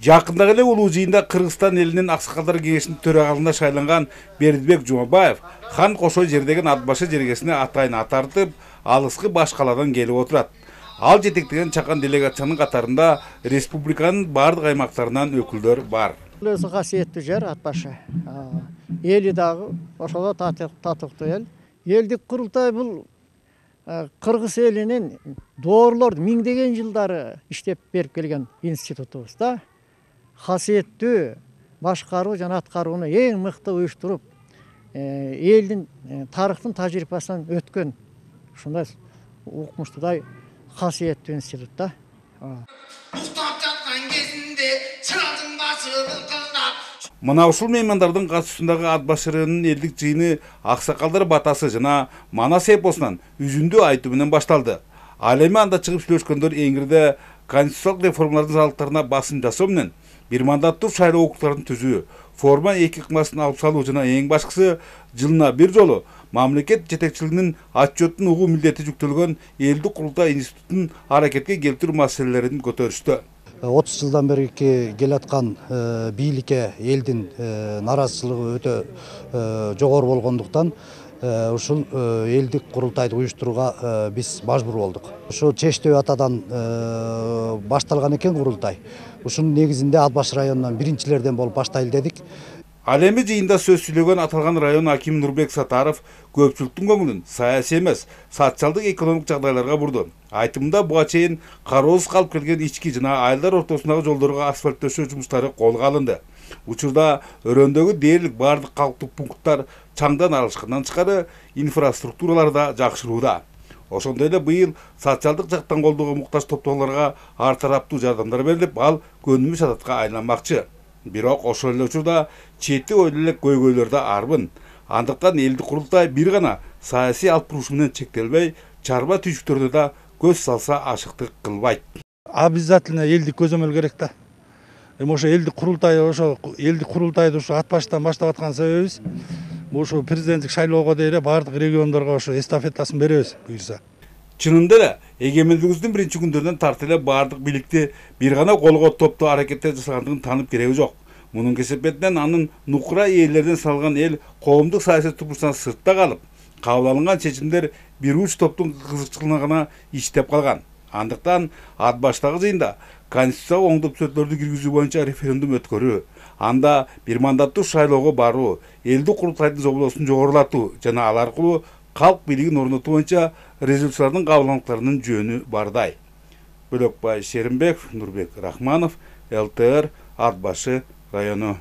Жакындагы эле улуу жыйында Кыргызстан элинин Аксакалдар кеңешинин төрагалыгына шайланган Бердибек Жумабаев хан кошой жердеген ат башы жергесине атайын ат тартып, алыскы баш калаадан келип отурат. Ал жетектеген чакан делегациянын катарында республиканын бардык аймактарынан өкүлдөр бар. Өзү касиеттүү жер ат башы. Эли дагы ошого татыктуу эл. Элдик курултай бул Кыргыз элинин доорлор миңдеген жылдары иштеп берип келген институтубуз да. Касиеттүү башкаруу жана аткарууну эң мыкты уюштуруп, элдин тарыхтын тажрыйбасынан өткөн ушундай укмуштуудай касиеттүү институт да. Уктап жаткан кезинде чырадын башы былкылдап. Мына ушул меймандардын катышуусундагы ат башырынын элдик жыйыны Аксакалдар батасы жана Манас эпосунан үзүндү айтуу менен башталды. Ал эми анда чыгып сүйлөшкөндөр эңирде конституциялык реформалардын салыктарына басым жасоо менен бир мандаттуу шайлоо округдарын түзүү, форма 2 ыкмасын алып салуу жана эң башкысы жылына бир жолу мамлекет жетекчилигинин отчеттун угуу милдети жүктөлгөн элдик курултай институтун аракетке келтирүү маселелерин көтөрүштү. 30 жылдан бери келаткан бийликке элдин наразычылыгы өтө жогору болгондуктан ушул элдик курултайды уюштурууга биз мажбур болдук. Ошо Чечтөө атадан башталган экен курултай. Ушунун негизинде Ат баш районунан биринчилерден болуп баштайлы дедик. Ал эми жыйында сөз сүйлөгөн аталган район акими Нурбек Сатаров көпчүлүктүн көңүлүн саясий эмес, социалдык экономик жагдайларга бурду. Айтымында буга чейин кароосуз калып келген ички жана айылдар ортосундагы жолдорго асфальт төшөө жумуштары колго алынды. Учурда өрөөндөгү дээрлик бардык калктык пункттар чаңдан арылышкандан тышкары инфраструктуралар да жакшырууда. Ошондой эле быйыл социалдык жактан колдоого муктаж топтоолорго ар тараптуу жардамдар берилип, ал көнүмүш адатка айланмакчы. Бирок ошол эле учурда чети ойлуу элек көйгөйлөр да арбын. Андыктан элдик курултай бир гана саясий алып буруш менен чектелбей, чарба түйшүктөрдө да көз салса ашыктык кылбайт. Обязательно элдик көзөмөл керек да. Ошо элдик курултайды ошо ат баштан баштап аткан себебибиз ошо президенттик шайлоого дейре бардык региондорго ошо эстафетасын беребиз буюрса. Чынында эле эгемендигибиздин биринчи күндөрүнөн тартып эле бардык бийликти бир гана колго топтоо аракеттер жасагандыгын таанып кереги жок. Мунун кесепетинен анын нукура ээлерден салган эл коомдук саясий турмушунан сыртта калып, кабыл алынган чечимдер бир уч топтун кызыкчылыгына гана иштеп калган. Андыктан ат баштагы жыйында конституциялык оңдоп түзөтүүлөрдү киргизүү боюнча референдум өткөрүү, анда бир мандаттуу шайлоого баруу, элдик курултайдын жоболосун жогорулатуу жана ал аркылуу калк бийлигин орнотуу боюнча резолюциялардын кабылдандыктарынын жөнү бардай. Бөлөкбай Шеримбеков, Нурбек Рахманов, ЛТР, Ат башы району.